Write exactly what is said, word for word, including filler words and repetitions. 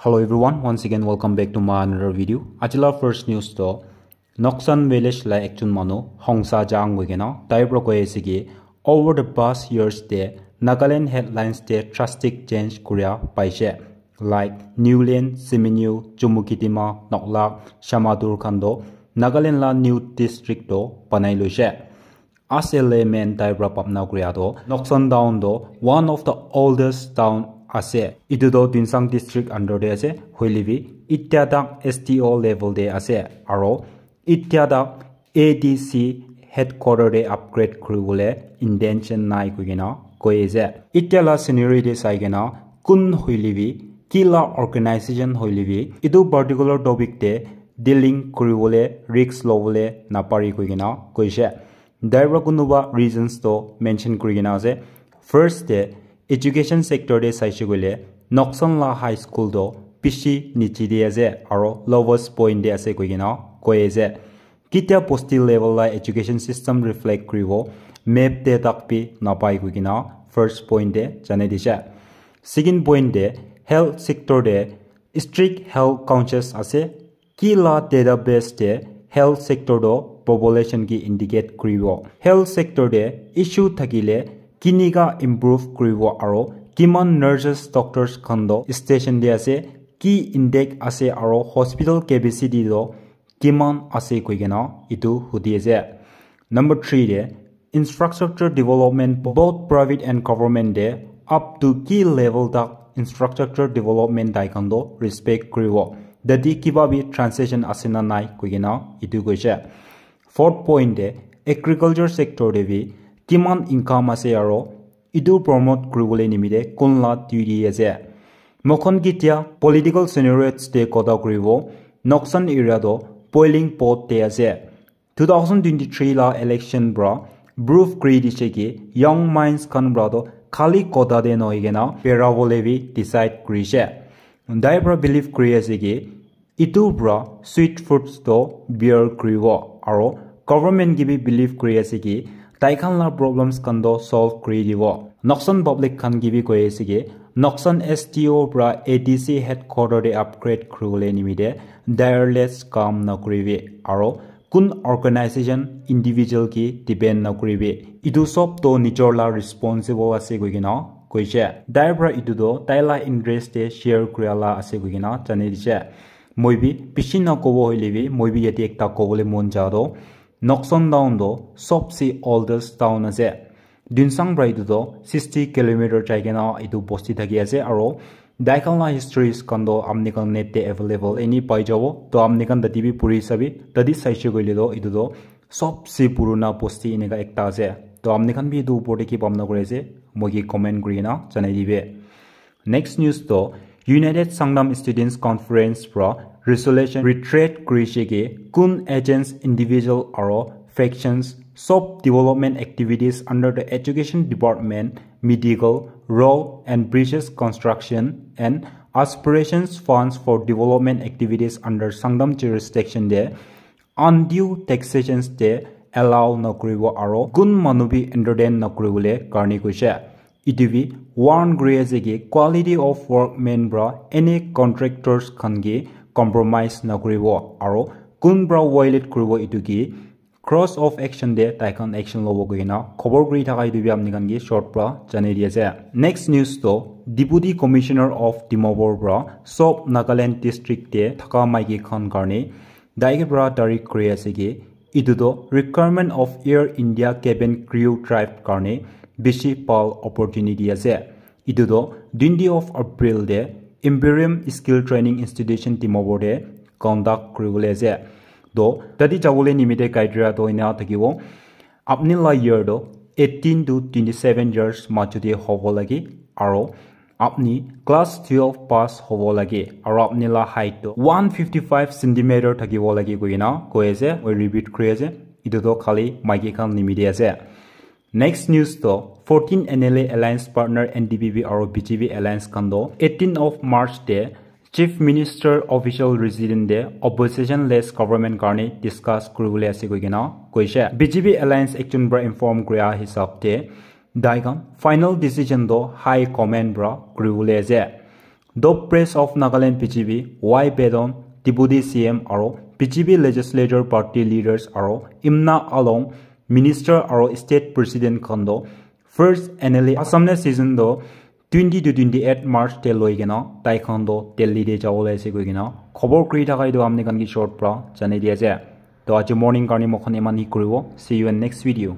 Hello everyone, once again welcome back to my another video. Ajila first news to Noksan village la ekjon manu Hongsa Jang hoikena tai pra koi ase ki over the past years te Nagaland headlines te drastic change kuria paise. Like Niulen, Siminyu, Chumukedima, Noklak, Shamator khan to Nagaland la new district to banai loise. As a layman tai pra bhabna kuria to Noksan town to one of the oldest town ase. Itu to Tuensang district under te ase. Hoile bi itya tak S D O level te ase. Aro itya tak A D C headquarter te upgrade kuribole intention nai koikena koi ase. Itya la scenery te sai kena kun hoile bi ki la organization hoile bi itu particular topic te dealing kuribole risk lobole napari koikena koise. Tai pra kunuba reasons to mention kuri kena ase. First te education sector te saishe koile Noksan la high school to bishi niche te ase aro lowest point te ase koi kena koi ase. Kitia bosti level la education system reflect kuribo map te tak bi napai koi kena first point te janai dise. Second point te health sector te strict health conscious ase. Ki la database te health sector to population ki indicate kuribo. Health sector te issue thakile kinika improve kuribo aro kiman nurses, doctors khan to station te ase, ki intake ase aro hospital capacity to kiman ase koikena itu hudi ase. Number three te infrastructure development both private and government te up to ki level tak infrastructure development tai khan to respect kuribo. Dadi kiba bi transaction ase na nai koikena itu koise. Fourth point te agriculture sector te bi kiman income ase aro itu promote kuribole nimite kun la duty ase. Mokhon kitia political scenarios te kotha kuribo, Noksan area to boiling pot te ase. Two thousand twenty-three la election pra proof kuri dise ki young minds khan pra to khali kotha te nohoi kena bera bole bi decide kurise. Tai pra believe kuri ase ki itu pra sweet fruits to bear kuribo aro government ki bi believe kuri ase ki tai khan la problems khan to solve kuri dibo. Noksan public khan ki bi koi ase ki Noksan S D O pra A D C headquarter te upgrade kuribole nimite tireless kam na kuribi aro kun organization individual ki depend na kuribi. Itu sob to nijor la responsible ase koikena koise. Tai pra itu to tai la interest te share kuria la ase koikena janai dise. Moi bi bishi na kobo hoile bi moi bi yate ekta kobole mon ja to Noksan town to sobse oldest town ase. Tuensang pra itu to sixty kilometer jai kena itu bosti thaki ase aro tai khan la histories khan to apni khan net te available any pai jabo. To apni khan tati bi puri sabi, tati saishe koile to itu to sobse purana bosti eneka ekta ase. To apni khan bi itu upor te ki bhabna kuri ase, moi ki comment kuri kena janai dibe. Next news to United Sangtam Students Conference pra resolution reiterate kurise ki kun agents, individual aro factions sob development activities under the education department, medical, road and bridges construction and aspirations funds for development activities under Sangtam jurisdiction te undue taxations te allow na kuribo aro kun manu bi entertain na kuribole karne koise. Itu bi warn kuri ase ki quality of workmen pra any contractors khan ki compromise na kuribo aro kun pra violate kuribo itu ki cross of action te tai khan action lobo koikena khobor kuri thaka itu bi apni khan ki short pra janai di ase. Next news to Deputy Commissioner of Dimapur pra sob Nagaland district te thaka maiki khan karne tai ke pra tarik kuri ase ki itu to requirement of Air India cabin crew drive karne bishi bhal opportunity ase. Itu to twenty of April te Imperium Skill Training Institution Dimapur te conduct kuribole ase. To tati jabole nimite criteria to ena thakibo. Apni la year to eighteen to twenty-seven years majo te hobo lage aro apni class twelve pass hobo lage aro apni la height to one fifty-five centimeter thakibo lage koina koi ase. Moi repeat kuri ase, itu to khali maiki khan nimite ase. Next news to fourteen N L A alliance partner N D P P aro B J P alliance khan to eighteen of March te Chief Minister official resident te opposition less government karne discuss kuribole ase koi kena koise. B J P alliance ekjon pra inform kuria hisab te tai khan final decision to high command pra kuribole ase. Dope Press of Nagaland, P G B, Y Bedon, Deputy C M aro P G B Legislature Party leaders aro Imna Along, Minister aro State President khan toh first N L A Assam News season toh twenty to twenty-eight March te loi kena tai khan toh Delhi te jabo le ase koi kena khobor kuri thaka etu apni khan ke short pra janai di ase. To aji morning karne moi khan eman hi kuribo. See you in next video.